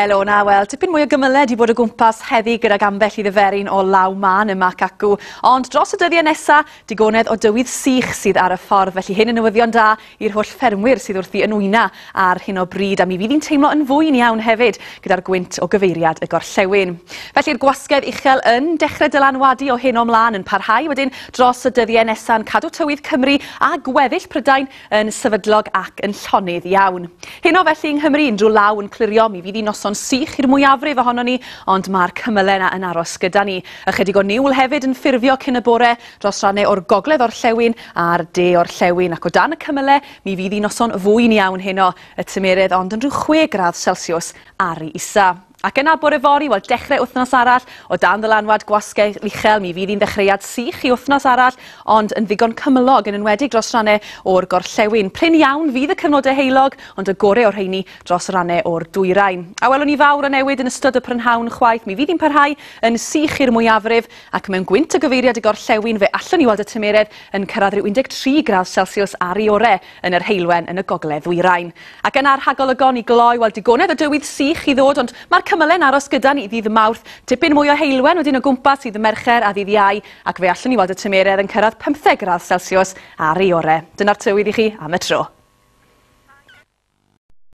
Helo na, wel, tipyn mwy o gymyle 'di bod o gwmpas heddi gydag ambell i ddiferyn o law mân yma ac acw. Ond dros y dyddiau nesa, digonedd o dywydd sych sydd ar y ffordd, felly hyn yn newyddion da i'r holl ffermwyr sydd wrthi yn wyna ar hyn o bryd, a mi fydd hi'n teimlo yn fwyn iawn hefyd gyda'r gwynt o gyfeiriad y gorllewin. Felly'r gwasgedd uchel yn dechrau dylanwadu o hyn ymlaen yn parhau wedyn dros y dyddiau nesa'n cadw tywydd Cymru a gweddill Prydain yn sefydlog ac yn llonydd iawn. Heno felly yng Nghymru, unrhyw law yn clirio, mi fydd hi noson sych i'r mwyafrif ohonon ni, ond mae'r cymylau yna yn aros gyda ni. Ychydig o niwl hefyd yn ffurfio cyn y bore dros rannau o'r gogledd orllewin a'r de orllewin, ac o dan y cymylau mi fydd hi noson fwyn iawn heno, y tymeredd ond yn rhyw 6 gradd Celsius ar ei isa. Ac yna bore fory, wel dechrau wythnos arall, o dan ddylanwad gwasgedd uchel, mi fydd hi'n ddechreuad sych i wythnos arall, ond yn ddigon cymylog, yn enwedig dros rannau o'r gorllewin. Prin iawn fydd y cyfnodau heulog, ond y gore o'r rheini dros rannau o'r dwyrain. A welwn ni fawr o newid yn ystod y prynhawn chwaith, mi fydd hi'n parhau yn sych i'r mwyafrif, ac mewn gwynt o gyfeiriad y gorllewin fe allwn ni weld y tymeredd yn cyrraedd rhyw 13 gradd Celsius ar ei ore yn yr heulwen yn y gogledd ddwyrain. Ac yna'r rhagolygon i gloi, wel digonedd o dywydd sych i ddod, ond mae'r cymylau'n aros gyda ni ddydd Mawrth. Tipyn mwy o heulwen wedyn o gwmpas ddydd Mercher a ddydd Iau, ac fe allwn ni weld y tymeredd yn cyrraedd 15 gradd Celsius ar ei ore. Dyna'r tywydd i chi am y tro.